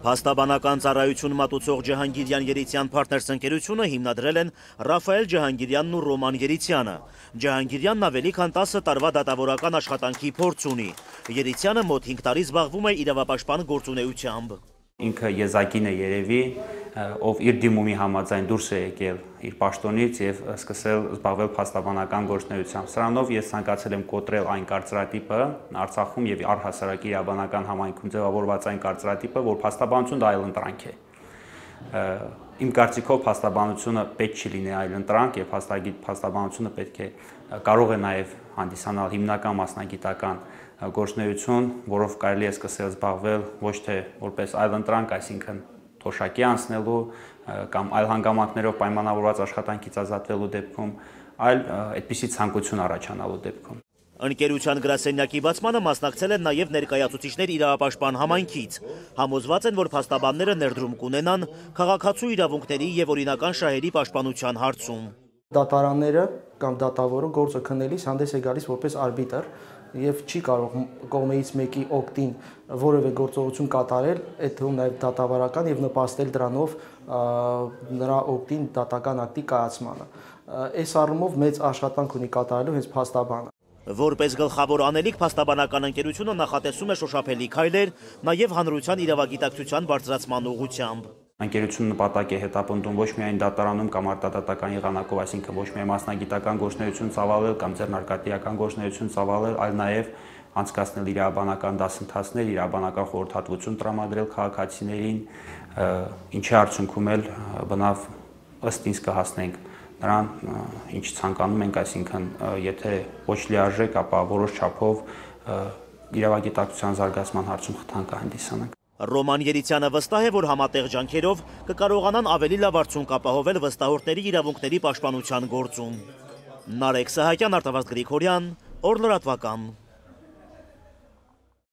Փաստաբանական ծառայություն մատուցող Ջահանգիրյան Երիցյան Partners ընկերությունը հիմնադրել են Ռաֆայել Ջահանգիրյանն ու Ռոման Երիցյանը։ Ջահանգիրյանն ավելի քան 10 տարվա դատավորական աշխատանքի փորձ ունի։ Երիցյանը մոտ 5 տարի զբաղվում է իրավապաշտպան գործունեությամբ։ Ինքը եզակին է երևի, ով իր դիմումի համաձայն դուրս է եկել իր պաշտոնից եւ սկսել զբաղվել փաստաբանական գործունեությամբ։ Սրանով ես ցանկացել եմ կոտրել այն կարծրատիպը Արցախում եւ առհասարակ իրավաբանական համայնքում ձևավորված այն կարծրատիպը, որ փաստաբանությունը դա այլընտրանք է։ Իմ կարծիքով փաստաբանությունը պետք չի լինի այլընտրանք եւ փաստաբանությունը պետք է կարող է նաեւ հանդիսանալ հիմնական մասնագիտական գործունեություն, որով կարելի է սկսել զբաղվել ոչ թե որպես այլընտրանք, այսինքն թոշակի անցնելու կամ այլ հանգամանքներով պայմանավորված աշխատանքից ազատվելու դեպքում, այլ այդպիսի ցանկություն առաջանալու դեպքում։ Ընկերության գրասենյակի բացմանը մասնակցել են նաև ներկայացուցիչներ իրավապաշտպան համայնքից։ Համոզված են, որ փաստաբանները ներդրում կունենան քաղաքացու իրավունքների եւ օրինական շահերի պաշտպանության հարցում։ Դատարանները կամ դատավորը գործը քննելիս հանդես է գալիս որպես արբիտր եւ չի կարող կողմից մեկի օգտին որևէ գործողություն կատարել, այդ թվում նաեւ դատավարական եւ նպաստել դրանով նրա օգտին դատական ակտի կայացմանը։ Այս առումով մեծ աշխատանք ունի կատարելու հենց փաստաբանը։ Որպես գլխավոր անելիք փաստաբանական ընկերությունը նախատեսում է շոշափելի քայլեր նաև հանրության իրավագիտակցության բարձրացման ուղղությամբ։ Ընկերությունը նպատակ է հետապնդում ոչ միայն դատարանում կամ արտադատական եղանակով, այսինքն ոչ միայն մասնագիտական գործունեություն ծավալել կամ ձեռնարկատիրական գործունեություն ծավալել, այլ նաև անցկացնել իրավաբանական դասընթացներ, իրավաբանական խորհրդատվություն տրամադրել քաղաքացիներին, ինչի արդյունքում էլ բնավ ըստ ինձ կհասնենք նրան, ինչ ցանկանում ենք, այսինքն եթե ոչ լիարժեք, ապա որոշ չափով իրավագիտակցության զարգացման հարցում խթան կհանդիսանանք։ Ռոման Երիցյանը վստահ է, որ համատեղ ջանքերով կկարողանան ավելի լավ արդյունք ապահովել վստահորդների իրավունքների պաշտպանության գործում։ Նարեկ Սահակյան, Արտավազդ Գրիգորյան, Օր լրատվական։